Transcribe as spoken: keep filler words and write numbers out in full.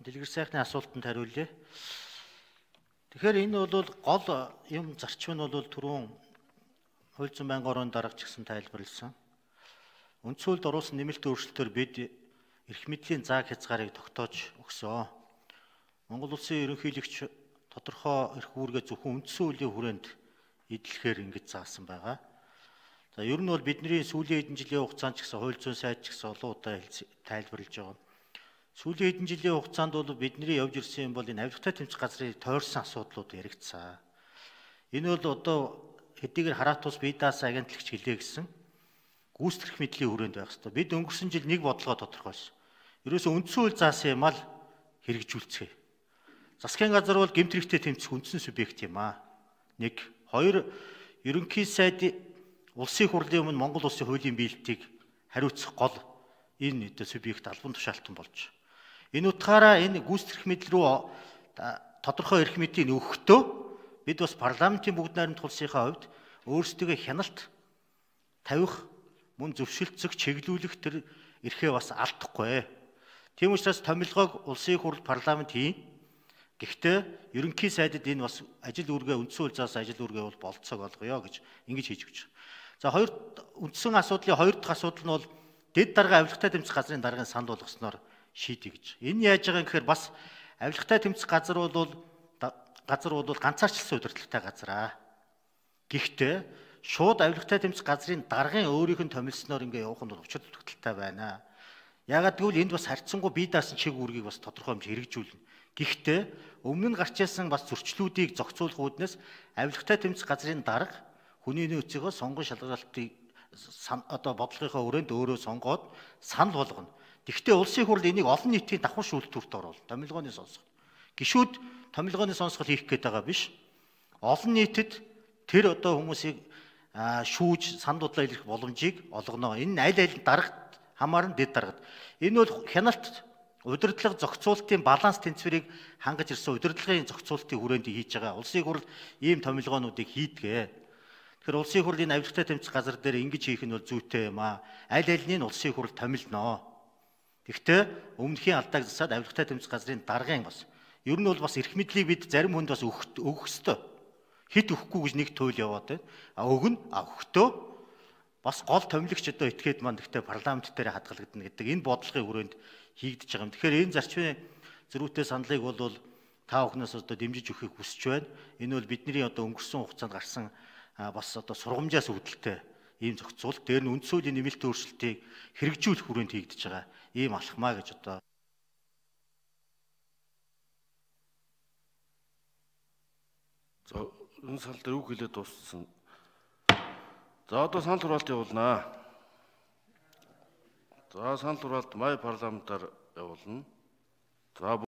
Дэлгэр сайхны асуултанд хариулъя. Тэгэхээр энэ бол гол юм зарчим нь бол түрүүн хууль зүйн байнгын орон дарга ч гэсэн тайлбарлсан. Үндсэн хуулинд оруулсан нэмэлт өөрчлөлтөөр бид эрх мэдлийн зааг хязгаарыг тогтоож өгсөн. Монгол улсын ерөнхийлөгч тодорхой эрх үүргээ зөвхөн үндсэн хуулийн хүрээнд эдлэхээр ингэж заасан байгаа. За ер нь бол бидний сүүлийн хэдэн жилийн хугацаанд ч гэсэн хууль зүйн сайд ч гэсэн олон удаа тайлбарлаж байгаа. Сүүлийн хэдэн жилийн хугацаанд бол бидний явж ирсэн юм бол энэ авилгатай тэмцэх газрын тойрсон асуудлууд яригдсан. Энэ бол одоо хэдийгээр хараат тус бие даасан агентлагч хэлээ гэсэн гүйцэтгэх мэдлийн хүрээнд байх хэрэгтэй. Бид өнгөрсөн жил нэг бодлогоо тодорхойлсон. Ерөөсөө үндсэн хууль заасан юм ал хэрэгжүүлцгээе. Засгийн газар бол гэмт хэрэгтэй тэмцэх үндсэн субъект юм аа. Нэг, хоёр, ерөнхий сайд улсын хурлын өмнө Монгол улсын хуулийн биелэлтийг хариуцах гол энэ өдөө субъект албан тушаалтан болж. Энэ утгаараа энэ гүйцэтгэх мэдэл рүү тодорхой эрх мэдийг өгөхдөө бид бас парламентын бүгд найрамд тулсынхаа хувьд өөрсдөө хяналт тавих, мөн зөвшөлтсөх, чиглүүлэх тэр эрхээ бас алдахгүй. Тийм учраас томилгоог улсын хурл парламент хийн. Гэхдээ ерөнхий сайдад энэ бас ажил үүргээ үндсэн хууль заасан ажил үүргээ бол болцоог олгоё гэж ингэж хийж өгч байгаа. За хоёр үндсэн асуудлын хоёр дахь асуудал нь бол дэд дарга авилгатай тэмцэх газрын даргын санал болгосноор шийдэ гэж. Энэ яаж байгаа юм гэхээр бас авилгатай тэмцэх газар бол газар бол ганцаарчлсан удирдлагатай газар аа. Гэхдээ шууд авилгатай тэмцэх газрын даргын өөрийнх нь томилсноор ингээ явах нь учир тогтолтой байна. Ягаад гэвэл энд бас харьцангуй бие даасан чиг үүргийг бас тодорхой хэмжээ хэрэгжүүлнэ. Гэхдээ өмнө нь гарч ирсэн бас зөрчлүүдийг зохицуулах үүднээс авилгатай тэмцэх газрын дарга хүний нөөцөө сонгон шалгалтыг одоо бодлогынхаа өрөөнд өөрөө сонгоод санал болгоно. Гэхдээ улсын хурл энийг олон нийтийн давхар шүүлтүүрт оруулна. Томилгооны сонсгол. Гишүүд томилгооны сонсгол хийх гээд байгаа биш. Олон нийтэд тэр одоо хүмүүсийг шүүж санал бодлоо илэрхийлэх боломжийг олгоно. Энэ аль аль дарагт хамаарна, дэд дарагт. Энэ бол хяналт удирдлага зохицуулалтын баланс тэнцвэрийг хангаж ирсэн удирдлагын зохицуулалтын хүрээнд хийж байгаа. Улсын хурл ийм томилгоонуудыг хийдгээ. Тэгэхээр улсын хурл энэ авилгатай тэмцэх газар дээр ингэж хийх нь бол зүйтэй юм аа. Аль альнийг улсын хурл томилноо. Гэхдээ өмнөхийн алдааг засаад авилгатай тэмцэх газрын даргын бас ер нь бол бас эрх мэдлийг бид зарим хүнд бас өгөх ёстой. Хит өгөхгүй гэж нэг туйл яваад байна. А өгнө, а өгөхдөө бас гол томилогч одоо этгээд маань гэхдээ парламент дээр хадгалагдана гэдэг энэ бодлогын хүрээнд хийгдэж байгаа юм. Тэгэхээр энэ зарчмын зөрүүтэй саналыг бол та бүхнээс одоо дэмжиж өгөхийг хүсэж байна. Энэ бол бидний одоо өнгөрсөн хугацаанд гарсан бас одоо сургамжаас үүдэлтэй ийм зохицуулалт. Дээр нь үндсэн хуулийн нэмэлт өөрчлөлтийг хэрэгжүүлэх хүрээнд хийгдэж байгаа ийм алхмаа гэж одоо за энэ сал дээр үг хэлээд дууссан. За одоо санал хураалт явуулнаа. За санал хураалт май парламентаар явуулна. За